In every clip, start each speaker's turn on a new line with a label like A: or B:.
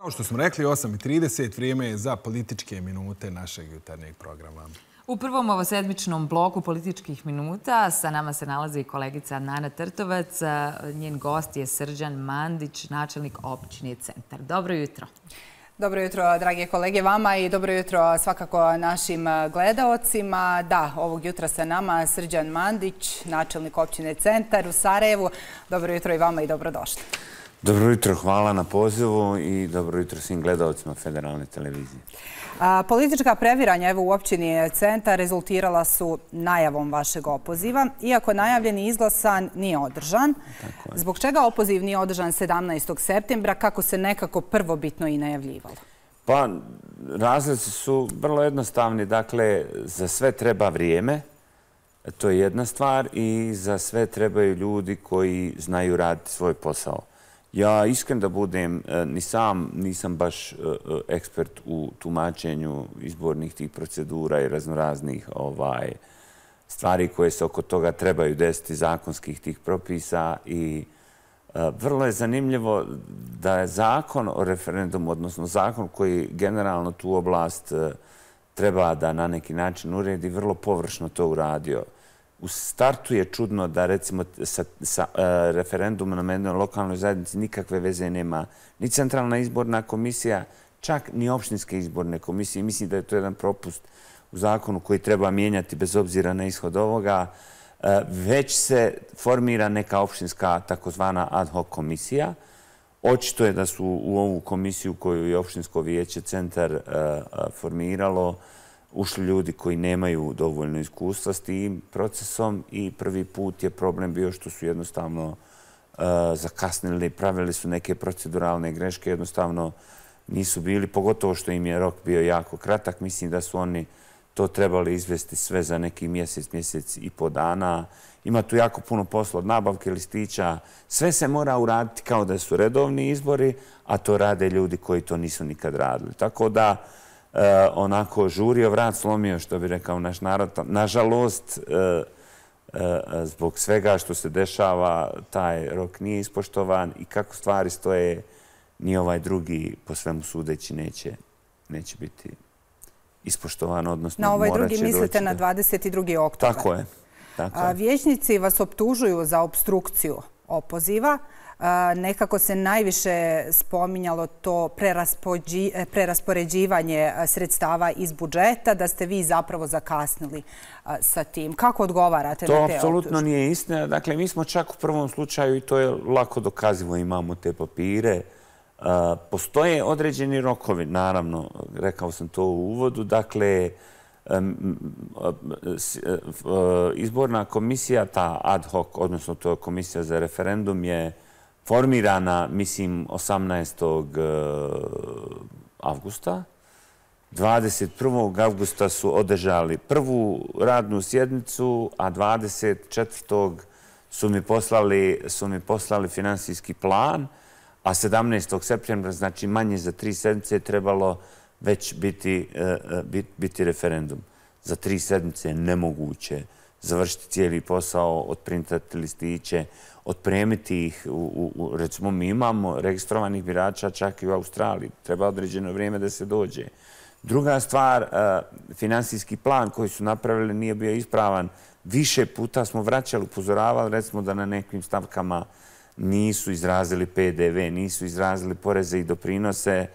A: Kao što smo rekli, 8:30, vrijeme je za političke minute našeg jutarnjeg programa.
B: U prvom ovosedmičnom bloku političkih minuta sa nama se nalazi kolegica Nana Trtovac. Njen gost je Srđan Mandić, načelnik općine Centar. Dobro jutro.
C: Dobro jutro, drage kolege, vama i dobro jutro svakako našim gledaocima. Da, ovog jutra sa nama Srđan Mandić, načelnik općine Centar u Sarajevu. Dobro jutro i vama i dobrodošli.
D: Dobro jutro, hvala na pozivu i dobro jutro svim gledaocima Federalne televizije.
C: Politička previranja u općini Centar rezultirala su najavom vašeg opoziva. Iako najavljen i izglasan, nije održan. Zbog čega opoziv nije održan 17. septembra, kako se nekako prvobitno i najavljivalo?
D: Pa, razlozi su vrlo jednostavni. Dakle, za sve treba vrijeme, to je jedna stvar, i za sve trebaju ljudi koji znaju raditi svoj posao. Ja iskren da budem, ni sam nisam baš ekspert u tumačenju izbornih tih procedura i raznoraznih stvari koje se oko toga trebaju desiti, zakonskih tih propisa, i vrlo je zanimljivo da je zakon o referendumu, odnosno zakon koji generalno tu oblast treba da na neki način uredi, vrlo površno to uradio. U startu je čudno da, recimo, sa referendumom na jednoj lokalnoj zajednici nikakve veze nema ni Centralna izborna komisija, čak ni opštinske izborne komisije. Mislim da je to jedan propust u zakonu koji treba mijenjati bez obzira na ishod ovoga. Već se formira neka opštinska takozvana ad hoc komisija. Očito je da su u ovu komisiju koju je opštinsko vijeće Centar formiralo ušli ljudi koji nemaju dovoljno iskustva s tim procesom, i prvi put je problem bio što su jednostavno zakasnili, pravili su neke proceduralne greške, jednostavno nisu bili, pogotovo što im je rok bio jako kratak. Mislim da su oni to trebali izvesti sve za neki mjesec i po dana. Ima tu jako puno posla, od nabavke listića. Sve se mora uraditi kao da su redovni izbori, a to rade ljudi koji to nisu nikad radili. Tako da onako žurio vrat slomio, što bi rekao naš narod. Nažalost, zbog svega što se dešava, taj rok nije ispoštovan i kako stvari stoje, ni ovaj drugi, po svemu sudeći, neće biti ispoštovan, odnosno
C: na ovaj
D: morat će
C: drugi mislite na 22. oktobar.
D: Tako je.
C: Vijećnici vas optužuju za opstrukciju opoziva. Nekako se najviše spominjalo to preraspoređivanje sredstava iz budžeta, da ste vi zapravo zakasnili sa tim. Kako odgovarate na te optužbe?
D: To apsolutno nije istina. Dakle, mi smo čak u prvom slučaju, i to je lako dokazivo, imamo te papire. Postoje određeni rokovi, naravno, rekao sam to u uvodu. Dakle, izborna komisija, ta ad hoc, odnosno to je komisija za referendum, je formirana, mislim, 18. avgusta. 21. avgusta su održali prvu radnu sjednicu, a 24. su mi poslali finansijski plan, a 17. septembra, znači manje za 3 sedmice, je trebalo već biti referendum. Za 3 sedmice je nemoguće završiti cijeli posao, odprintati listiće, otpremiti ih. Recimo, mi imamo registrovanih birača čak i u Australiji. Treba određeno vrijeme da se dođe. Druga stvar, finansijski plan koji su napravili nije bio ispravan. Više puta smo vraćali, upozoravali, recimo da na nekim stavkama nisu izrazili PDV, nisu izrazili poreze i doprinose,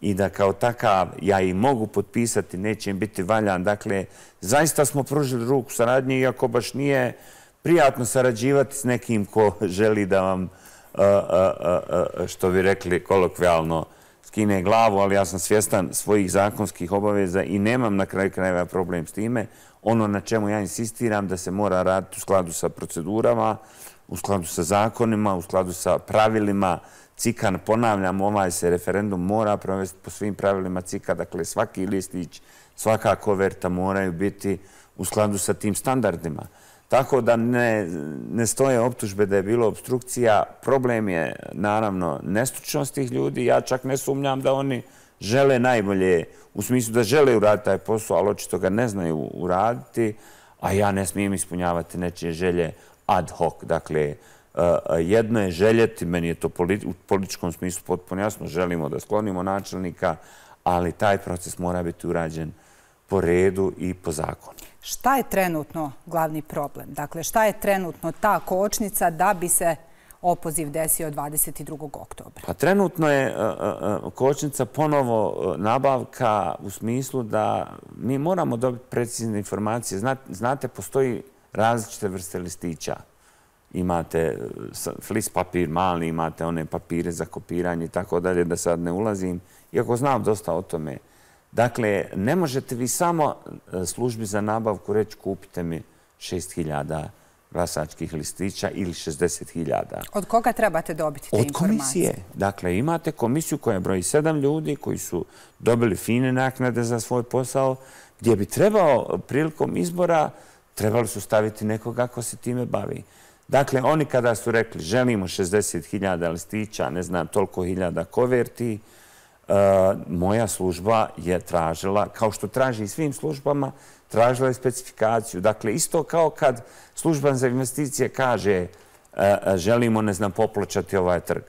D: i da kao takav, ja i mogu potpisati, neće im biti valjan. Dakle, zaista smo pružili ruku saradnje, iako baš nije prijatno sarađivati s nekim ko želi da vam, što bi rekli kolokvijalno, skine glavu, ali ja sam svjestan svojih zakonskih obaveza i nemam na kraju krajeva problem s time. Ono na čemu ja insistiram da se mora raditi u skladu sa procedurama, u skladu sa zakonima, u skladu sa pravilima CIK-a. Ponavljam, ovaj se referendum mora provesti po svim pravilima CIK-a. Dakle, svaki listić, svaka koverta moraju biti u skladu sa tim standardima. Tako da ne stoje optužbe da je bilo obstrukcija. Problem je, naravno, nestručnost tih ljudi. Ja čak ne sumnjam da oni žele najbolje, u smislu da žele uraditi taj posao, ali očito ga ne znaju uraditi, a ja ne smijem ispunjavati nečije želje ad hoc. Dakle, Jedno je željeti, meni je to u političkom smislu potpuno jasno, želimo da sklonimo načelnika, ali taj proces mora biti urađen po redu i po zakonu.
C: Šta je trenutno glavni problem? Dakle, šta je trenutno ta kočnica da bi se opoziv desio 22. oktobra?
D: Pa trenutno je kočnica ponovo nabavka u smislu da mi moramo dobiti precizne informacije. Znate, postoji različite vrste listića. Imate flis papir mali, imate one papire za kopiranje i tako dalje, da sad ne ulazim, iako znam dosta o tome. Dakle, ne možete vi samo službi za nabavku reći kupite mi 6.000 glasačkih listića ili 60.000.
C: Od koga trebate dobiti te informacije?
D: Od komisije. Dakle, imate komisiju koja broji 7 ljudi koji su dobili fine naknade za svoj posao, gdje bi trebao prilikom izbora, trebali su staviti nekoga ko se time bavi. Dakle, oni kada su rekli želimo 60.000 listića, ne znam, toliko hiljada koverti, moja služba je tražila, kao što traži i svim službama, tražila je specifikaciju. Dakle, isto kao kad služba za investicije kaže želimo, ne znam, popločati ovaj trg.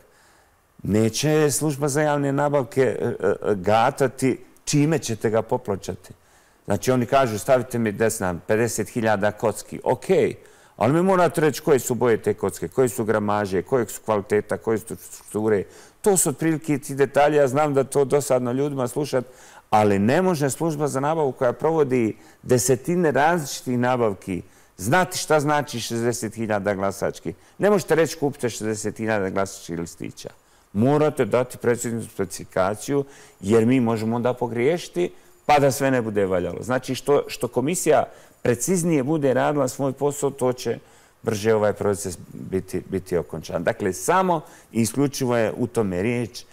D: Neće služba za javne nabavke gatati čime ćete ga popločati. Znači, oni kažu stavite mi, ne znam, 50.000 kocki. Okej. Ali mi morate reći koje su boje te kocke, koje su gramaže, koje su kvaliteta, koje su strukture. To su otprilike ti detalji. Ja znam da to dosadno ljudima slušati, ali ne može služba za nabavu koja provodi desetine različitih nabavki znati šta znači 60.000 glasačkih. Ne možete reći kupite 60.000 glasačkih listića. Morate dati preciznu specifikaciju jer mi možemo onda pogriješiti pa da sve ne bude valjalo. Znači što komisija preciznije bude radila svoj posao, to će brže ovaj proces biti okončan. Dakle, samo i isključivo je u tome riječ,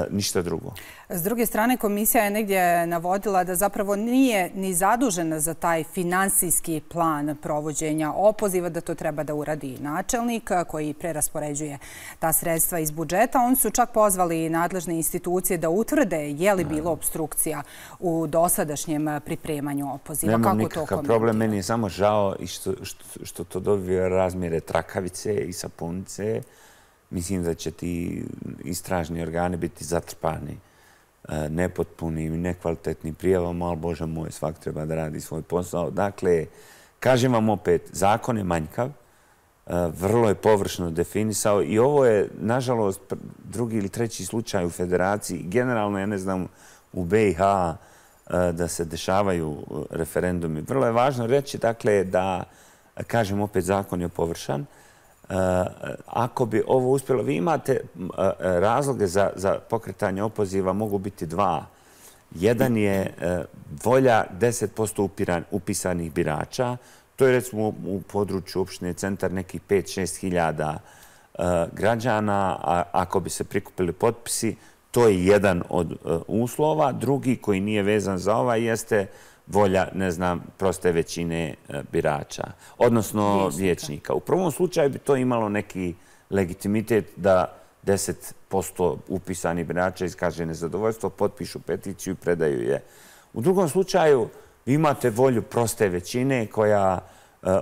D: ništa drugo.
C: S druge strane, komisija je negdje navodila da zapravo nije ni zadužena za taj finansijski plan provođenja opoziva, da to treba da uradi načelnik koji preraspoređuje ta sredstva iz budžeta. Oni su čak pozvali nadležne institucije da utvrde je li bilo obstrukcija u dosadašnjem pripremanju opoziva.
D: Nemam nikakav problem, meni je samo žao i što to dobije razmjere trakavice i sapunice. Mislim da će ti istražni organi biti zatrpani nepotpunim i nekvalitetnim prijavama, ali Bože moj, svak treba da radi svoj posao. Dakle, kažem vam opet, zakon je manjkav, vrlo je površno definisao i ovo je, nažalost, drugi ili treći slučaj u federaciji. Generalno, ja ne znam, u BiH da se dešavaju referendumi. Vrlo je važno reći, dakle, da, kažem opet, zakon je površan. Ako bi ovo uspjelo, vi imate razloge za pokretanje opoziva, mogu biti dva. Jedan je volja 10% upisanih birača. To je recimo u području opštine Centar nekih 5-6 hiljada građana. Ako bi se prikupili potpisi, to je jedan od uslova. Drugi koji nije vezan za ovaj jeste volja, ne znam, proste većine birača, odnosno vijećnika. U prvom slučaju bi to imalo neki legitimitet da 10% upisanih birača iskaže nezadovoljstvo, potpišu peticiju i predaju je. U drugom slučaju vi imate volju proste većine koja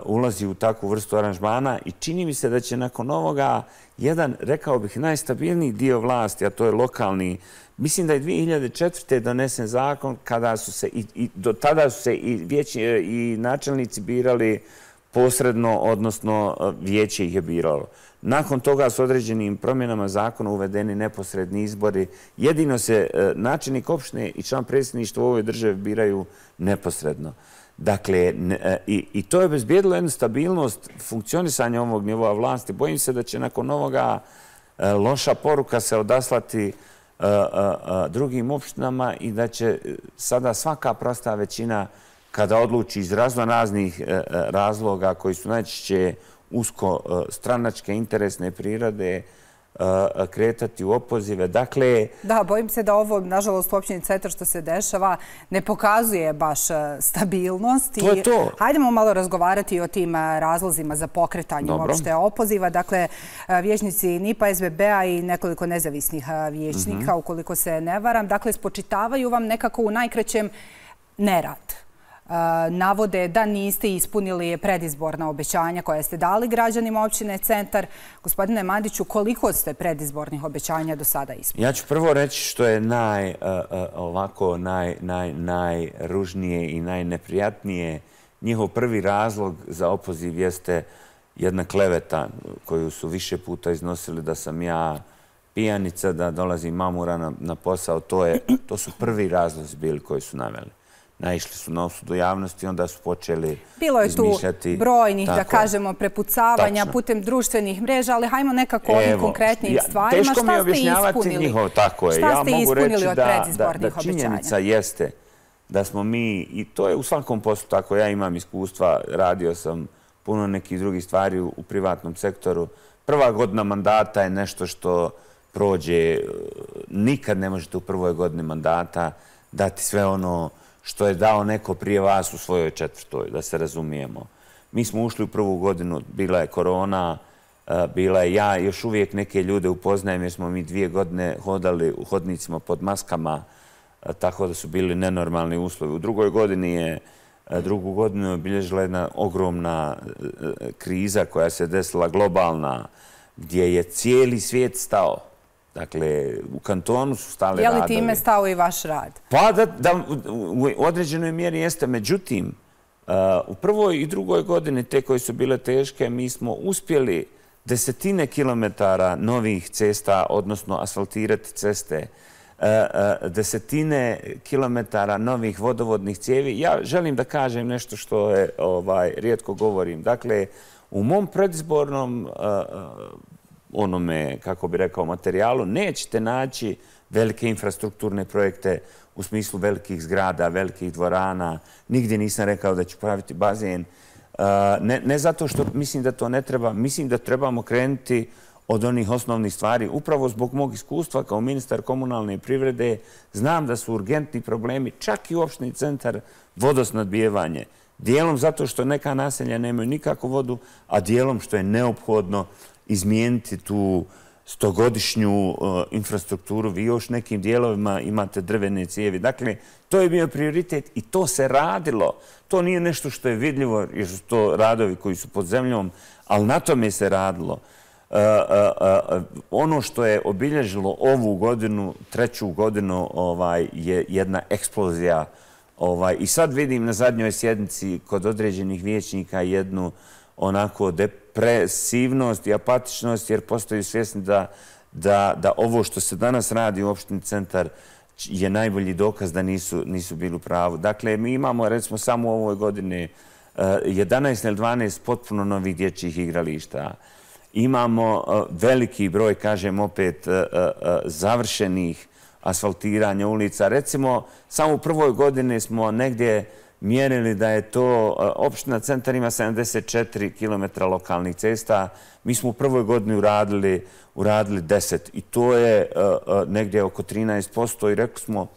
D: ulazi u takvu vrstu aranžmana i čini mi se da će nakon ovoga jedan, rekao bih, najstabilniji dio vlasti, a to je lokalni. Mislim da je 2004. donesen zakon kada su se, i do tada su se i načelnici birali posredno, odnosno vijeće ih je biralo. Nakon toga s određenim promjenama zakona uvedeni neposredni izbori. Jedino se načelnik opštine i član predsjedništva u ovoj državi biraju neposredno. Dakle, i to je obezbijedilo jednu stabilnost funkcionisanja ovog nivoa vlasti. Bojim se da će nakon ovoga loša poruka se odaslati drugim opštinama i da će sada svaka prosta većina, kada odluči iz raznih razloga koji su najčešće usko stranačke interesne prirode, kretati u opozive. Dakle...
C: Da, bojim se da ovo, nažalost, u opštini Centar što se dešava ne pokazuje baš stabilnost.
D: To je to.
C: Hajdemo malo razgovarati o tim razlozima za pokretanje uopšte opoziva. Dakle, vijećnici NIP-a, SBB-a i nekoliko nezavisnih vijećnika, ukoliko se ne varam, dakle, spočitavaju vam nekako u najkraćem nerad. navode da niste ispunili predizborna obećanja koja ste dali građanima općine Centar. Gospodine Mandiću, koliko ste predizbornih obećanja do sada ispunili?
D: Ja ću prvo reći što je najružnije i najneprijatnije. Njihov prvi razlog za opoziv jeste jedna kleveta koju su više puta iznosili da sam ja pijanica, da dolazim mamura na posao. To su prvi razlozi bili koji su naveli. Naišli su na osudu javnosti, onda su počeli izmišljati...
C: Bilo je tu brojnih, da kažemo, prepucavanja putem društvenih mreža, ali hajmo nekako ovim konkretnim stvarima.
D: Teško mi je objašnjavati njihovo, tako je.
C: Šta ste ispunili od predizbornih
D: obećanja? Da činjenica jeste da smo mi, i to je u svakom poslu tako, ja imam iskustva, radio sam puno nekih drugih stvari u privatnom sektoru. Prva godina mandata je nešto što prođe, nikad ne možete u prvoj godini mandata dati sve ono što je dao neko prije vas u svojoj četvrtoj, da se razumijemo. Mi smo ušli u prvu godinu, bila je korona, bila je ja, još uvijek neke ljude upoznajem jer smo mi 2 godine hodali u hodnicima pod maskama, tako da su bili nenormalni uslovi. U drugoj godini je drugu godinu obilježila jedna ogromna kriza koja se desila globalna, gdje je cijeli svijet stao. Dakle, u kantonu su stali radovi.
C: Je li time stao i vaš rad?
D: Pa u određenoj mjeri jeste. Međutim, u prvoj i drugoj godini, te koje su bile teške, mi smo uspjeli desetine kilometara novih cesta, odnosno asfaltirati ceste, desetine kilometara novih vodovodnih cijevi. Ja želim da kažem nešto što je rijetko govorim. Dakle, u mom predizbornom onome, kako bi rekao, materijalu, nećete naći velike infrastrukturne projekte u smislu velikih zgrada, velikih dvorana. Nigdje nisam rekao da ću praviti bazen. Ne zato što mislim da to ne treba, mislim da trebamo krenuti od onih osnovnih stvari. Upravo zbog mog iskustva kao ministar komunalne privrede znam da su urgentni problemi, čak i u opštini Centar, vodosnadbijevanje. Dijelom zato što neka naselja nemaju nikakvu vodu, a dijelom što je neophodno izmijeniti tu 100-godišnju infrastrukturu. Vi još nekim dijelovima imate drvene cijevi. Dakle, to je bio prioritet i to se radilo. To nije nešto što je vidljivo, jer su to radovi koji su pod zemljom, ali na tome se radilo. Ono što je obilježilo ovu godinu, 3. godinu, je jedna eksplozija. I sad vidim na zadnjoj sjednici kod određenih vijećnika jednu onako depresivnost i apatičnost, jer postaju svjesni da ovo što se danas radi u opštini Centar je najbolji dokaz da nisu bili u pravu. Dakle, mi imamo, recimo, samo u ovoj godini 11 ili 12 potpuno novih dječjih igrališta. Imamo veliki broj, kažem opet, završenih asfaltiranja ulica. Recimo, samo u prvoj godini smo negdje mjerili da je to, opština Centar ima 74 km lokalnih cesta. Mi smo u prvoj godini uradili 10 i to je negdje oko 13% i rekli smo,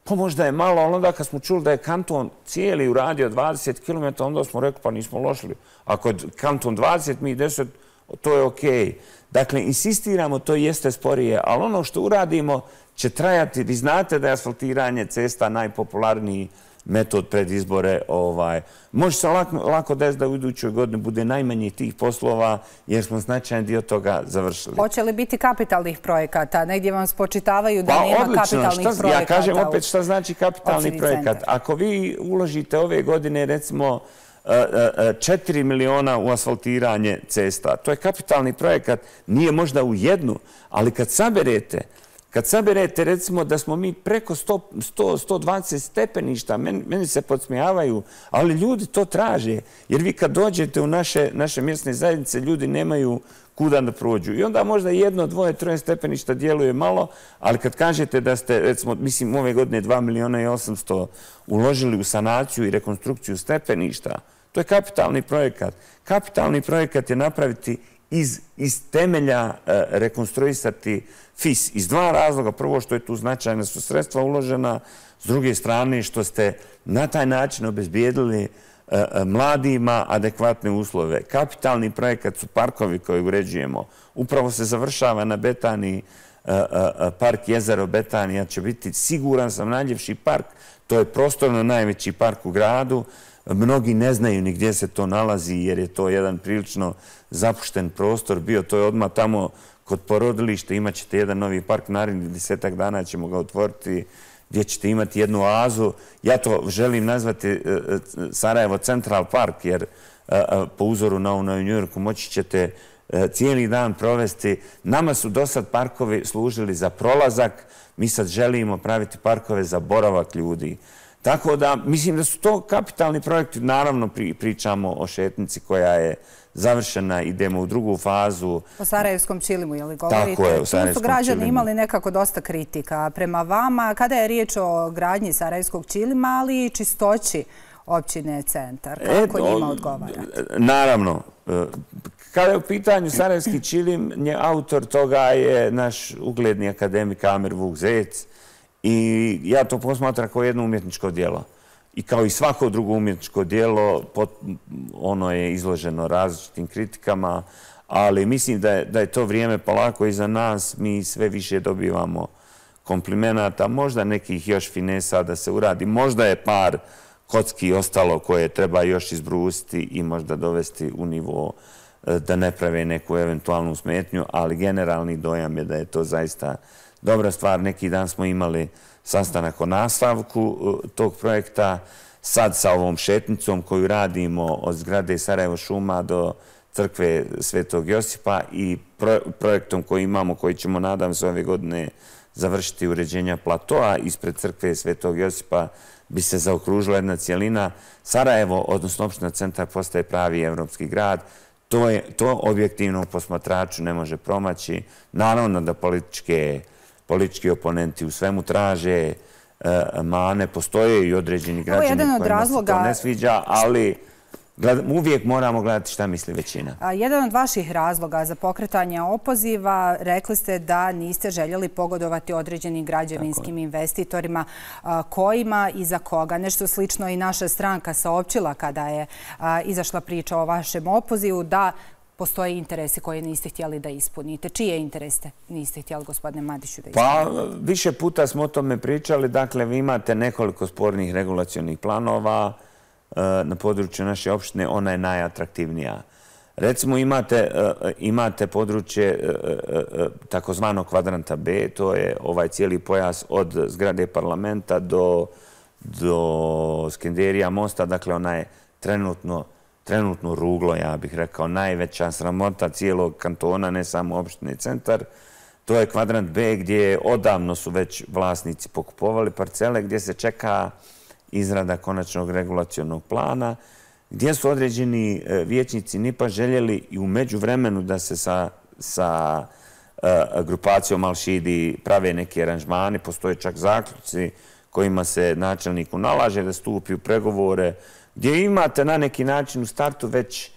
D: pa možda je malo, ali onda kad smo čuli da je kanton cijeli uradio 20 km, onda smo rekli, pa nismo lošili. Ako je kanton 20, mi 10, to je okej. Dakle, insistiramo, to jeste sporije, ali ono što uradimo će trajati. Vi znate da je asfaltiranje cesta najpopularniji metod pred izbore. Može se lako desiti da u idućoj godini bude najmanje tih poslova, jer smo značajan dio toga završili.
C: Hoće li biti kapitalnih projekata? Negdje vam spočitavaju da nema kapitalnih projekata.
D: Ja kažem opet šta znači kapitalni projekat. Ako vi uložite ove godine, recimo, 4 miliona u asfaltiranje cesta, to je kapitalni projekat, nije možda u jednu, ali kad saberete, recimo, da smo mi preko 120 stepeništa, meni se podsmijavaju, ali ljudi to traže, jer vi kad dođete u naše mjesne zajednice, ljudi nemaju kuda da prođu. I onda možda 1, 2, 3 stepeništa djeluje malo, ali kad kažete da ste, recimo, mislim, ove godine 2 miliona i 800 uložili u sanaciju i rekonstrukciju stepeništa, to je kapitalni projekat. Kapitalni projekat je napraviti iz temelja rekonstruisati FIS iz 2 razloga. Prvo, što je tu značajna su sredstva uložena, s druge strane što ste na taj način obezbijedili mladima adekvatne uslove. Kapitalni projekat su parkovi koje uređujemo. Upravo se završava na Betani park Jezero Betanija će biti, siguran sam, najljepši park. To je prostorno najveći park u gradu. Mnogi ne znaju ni gdje se to nalazi jer je to jedan prilično zapušten prostor bio. To je odmah tamo kod porodilišta. Imat ćete jedan novi park, narednih 10 dana ćemo ga otvoriti, gdje ćete imati jednu oazu. Ja to želim nazvati Sarajevo Central Park, jer po uzoru na ovo u New Yorku moći ćete cijeli dan provesti. Nama su do sad parkovi služili za prolazak, mi sad želimo praviti parkove za boravak ljudi. Tako da, mislim da su to kapitalni projekti. Naravno, pričamo o šetnici koja je završena, idemo u drugu fazu.
C: O Sarajevskom čilimu, je li govorite?
D: Tako je, o Sarajevskom čilimu.
C: Tu su građani imali nekako dosta kritika prema vama. Kada je riječ o gradnji Sarajevskog čilima, ali i čistoći općine Centar, kako njima odgovarate?
D: Naravno. Kada je u pitanju Sarajevski čilim, autor toga je naš ugledni akademik Amir Vuk Zec i ja to posmatram kao jedno umjetničko djelo. I kao i svako drugo umjetničko djelo, ono je izloženo različitim kritikama, ali mislim da je to vrijeme polako iza nas. Mi sve više dobivamo komplimenata, možda nekih još finesa da se uradi. Možda je par kocki ostalo koje treba još izbrusiti i možda dovesti u nivo da ne prave neku eventualnu smetnju, ali generalni dojam je da je to zaista dobra stvar. Neki dan smo imali sastanak o nastavku tog projekta, sad sa ovom šetnicom koju radimo od zgrade Sarajevo šuma do crkve Svetog Josipa i projektom koji imamo, koji ćemo, nadam se, ove godine završiti uređenja platoa ispred crkve Svetog Josipa, bi se zaokružila jedna cijelina. Sarajevo, odnosno opština Centar, postaje pravi evropski grad. To objektivnom posmatraču ne može promaći. Naravno da politički oponenti u svemu traže mane, postoje i određeni građani kojima se to ne sviđa, ali uvijek moramo gledati šta misli većina.
C: Jedan od vaših razloga za pokretanje opoziva, rekli ste da niste željeli pogodovati određenim građevinskim investitorima. Kojima i za koga? Nešto slično i naša stranka saopćila kada je izašla priča o vašem opozivu, da postoje interesi koje niste htjeli da ispunite. Čije interese niste htjeli, gospodine Mandiću, da ispunite?
D: Pa, više puta smo o tome pričali. Dakle, vi imate nekoliko spornih regulacionih planova na području naše opštine, ona je najatraktivnija. Recimo, imate područje takozvanog kvadranta B, to je ovaj cijeli pojas od zgrade parlamenta do Skenderija mosta, dakle ona je trenutno ruglo, ja bih rekao, najveća sramota cijelog kantona, ne samo opštine Centar. To je kvadrant B gdje odavno su već vlasnici pokupovali parcele, gdje se čeka izrada konačnog regulacionog plana, gdje su određeni vijećnici NIP-a željeli i u međuvremenu da se sa grupacijom Al-Šidi prave neki aranžmani. Postoje čak zaključci kojima se načelniku nalaže da stupi u pregovore, gdje imate na neki način u startu već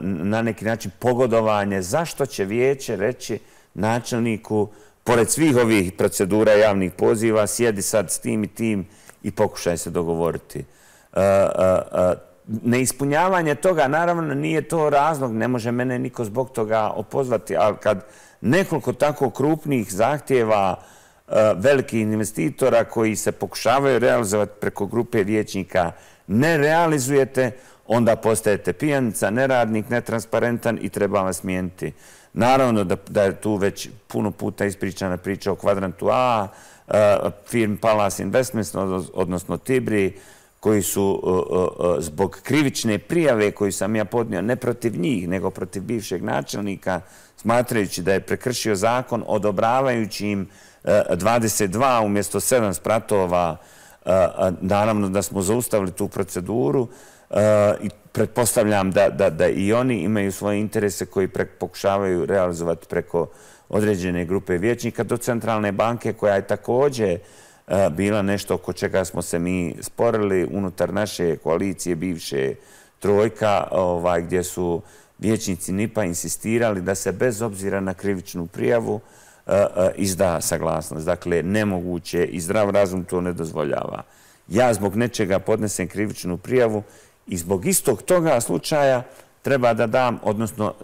D: na neki način pogodovanje. Zašto će vijeće reći načelniku, pored svih ovih procedura javnih poziva, sjedi sad s tim i tim i pokušaj se dogovoriti. Neispunjavanje toga, naravno, nije to razlog, ne može mene niko zbog toga opozvati, ali kad nekoliko tako krupnih zahtjeva velikih investitora koji se pokušavaju realizovati preko grupe vijećnika ne realizujete, onda postajete pijanica, neradnik, netransparentan i treba vas smijeniti. Naravno da je tu već puno puta ispričana priča o kvadrantu A, firm Palace Investments, odnosno Tibri, koji su zbog krivične prijave koju sam ja podnio ne protiv njih, nego protiv bivšeg načelnika, smatrajući da je prekršio zakon, odobravajući im 22 umjesto 7 spratova. Naravno da smo zaustavili tu proceduru i pretpostavljam da i oni imaju svoje interese koji pokušavaju realizovati preko određene grupe vijećnika, do Centralne banke koja je također bila nešto oko čega smo se mi sporili unutar naše koalicije bivše trojka, gdje su vijećnici NIP-a insistirali da se bez obzira na krivičnu prijavu izda saglasnost. Dakle, nemoguće i zdrav razum to ne dozvoljava. Ja zbog nečega podnesem krivičnu prijavu i zbog istog toga slučaja treba da dam, odnosno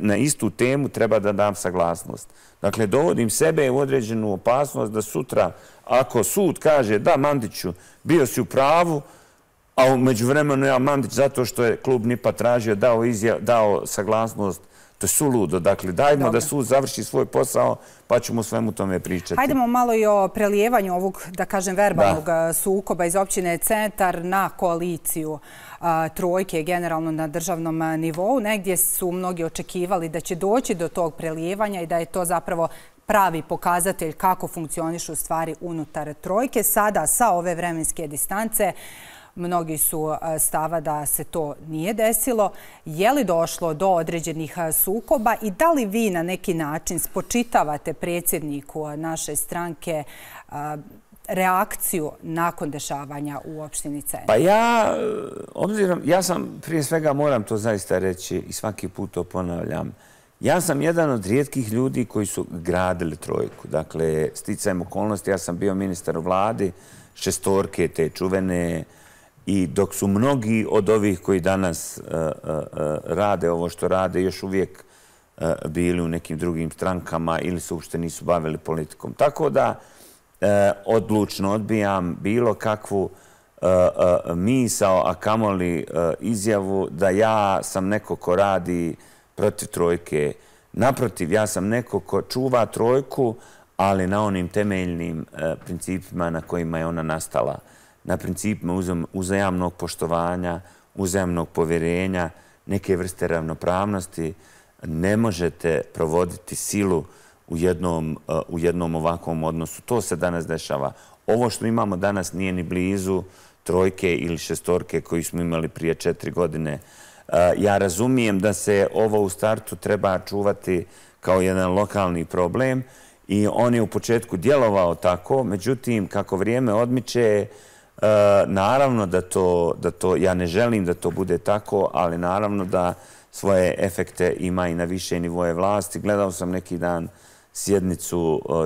D: na istu temu treba da dam saglasnost. Dakle, dovodim sebe u određenu opasnost da sutra, ako sud kaže da, Mandiću, bio si u pravu, a u međuvremenu ja Mandić, zato što je klub NIP-a tražio, dao saglasnost, to je suludo. Dakle, dajmo da sud završi svoj posao, pa ćemo svemu tome pričati.
C: Hajdemo malo i o prelijevanju ovog, da kažem, verbalnog sukoba iz općine Centar na koaliciju trojke, generalno na državnom nivou. Negdje su mnogi očekivali da će doći do tog prelijevanja i da je to zapravo pravi pokazatelj kako funkcionišu stvari unutar trojke. Sada, sa ove vremenske distance, mnogi su stava da se to nije desilo. Je li došlo do određenih sukoba i da li vi na neki način spočitavate predsjedniku naše stranke reakciju nakon dešavanja u opštini Centar?
D: Pa ja sam, prije svega moram to zaista reći i svaki put to ponavljam, ja sam jedan od rijetkih ljudi koji su gradili trojku. Dakle, sticajem okolnosti, ja sam bio ministar u vladi, šestorke te čuvene, i dok su mnogi od ovih koji danas rade ovo što rade još uvijek bili u nekim drugim strankama ili se uopšte nisu bavili politikom. Tako da odlučno odbijam bilo kakvu misao, a kamoli izjavu da ja sam neko ko radi protiv trojke. Naprotiv, ja sam neko ko čuva trojku, ali na onim temeljnim principima na kojima je ona nastala. Na principima uzajamnog poštovanja, uzajamnog povjerenja, neke vrste ravnopravnosti. Ne možete provoditi silu u jednom ovakvom odnosu. To se danas dešava. Ovo što imamo danas nije ni blizu trojke ili šestorke koju smo imali prije 4 godine. Ja razumijem da se ovo u startu treba čuvati kao jedan lokalni problem i on je u početku djelovao tako, međutim, kako vrijeme odmiče, naravno da to, ja ne želim da to bude tako, ali naravno da svoje efekte ima i na više nivoje vlasti. Gledao sam neki dan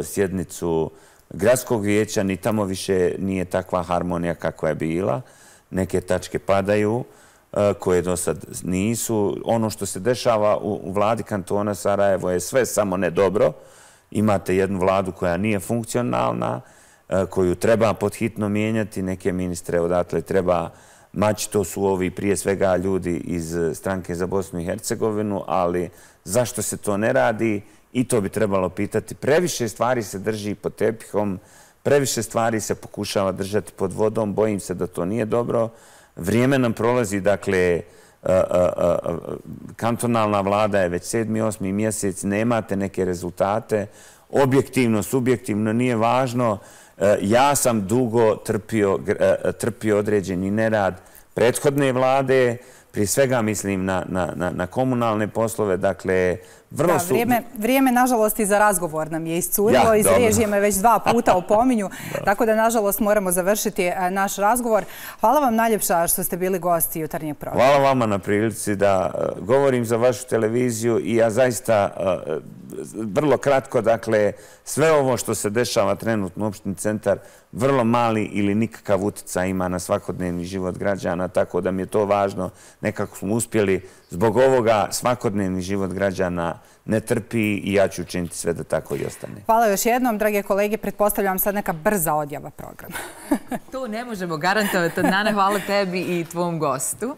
D: sjednicu gradskog vijeća, ni tamo više nije takva harmonija kakva je bila. Neke tačke padaju, koje do sad nisu. Ono što se dešava u vladi kantona Sarajevo je sve samo ne dobro. Imate jednu vladu koja nije funkcionalna, koju treba podhitno mijenjati, neke ministre odatle treba maći, to su ovi prije svega ljudi iz stranke za Bosnu i Hercegovinu, ali zašto se to ne radi i to bi trebalo pitati. Previše stvari se drži pod tepihom, previše stvari se pokušava držati pod vodom, bojim se da to nije dobro. Vrijeme nam prolazi, dakle, kantonalna vlada je već 7. 8. mjesec, nemate neke rezultate, objektivno, subjektivno, nije važno. Ja sam dugo trpio određeni nerad prethodne vlade, prije svega mislim na komunalne poslove, dakle, vrlo su...
C: Vrijeme, nažalost, i za razgovor nam je iscurilo, iz režije me već 2 puta opominju, tako da, nažalost, moramo završiti naš razgovor. Hvala vam najljepša što ste bili gosti jutarnjeg programa.
D: Hvala vama na prilici da govorim za vašu televiziju i ja zaista vrlo kratko, dakle, sve ovo što se dešava trenutno u opštini Centar, vrlo mali ili nikakav utjecaj ima na svakodnevni život građana, tako da mi je to važno. Nekako smo uspjeli, zbog ovoga svakodnevni život građana ne trpi i ja ću učiniti sve da tako i ostane.
C: Hvala još jednom, drage kolege. Pretpostavljam sad neka brza odjava programa.
B: To ne možemo garantovati. Nana, hvala tebi i tvom gostu.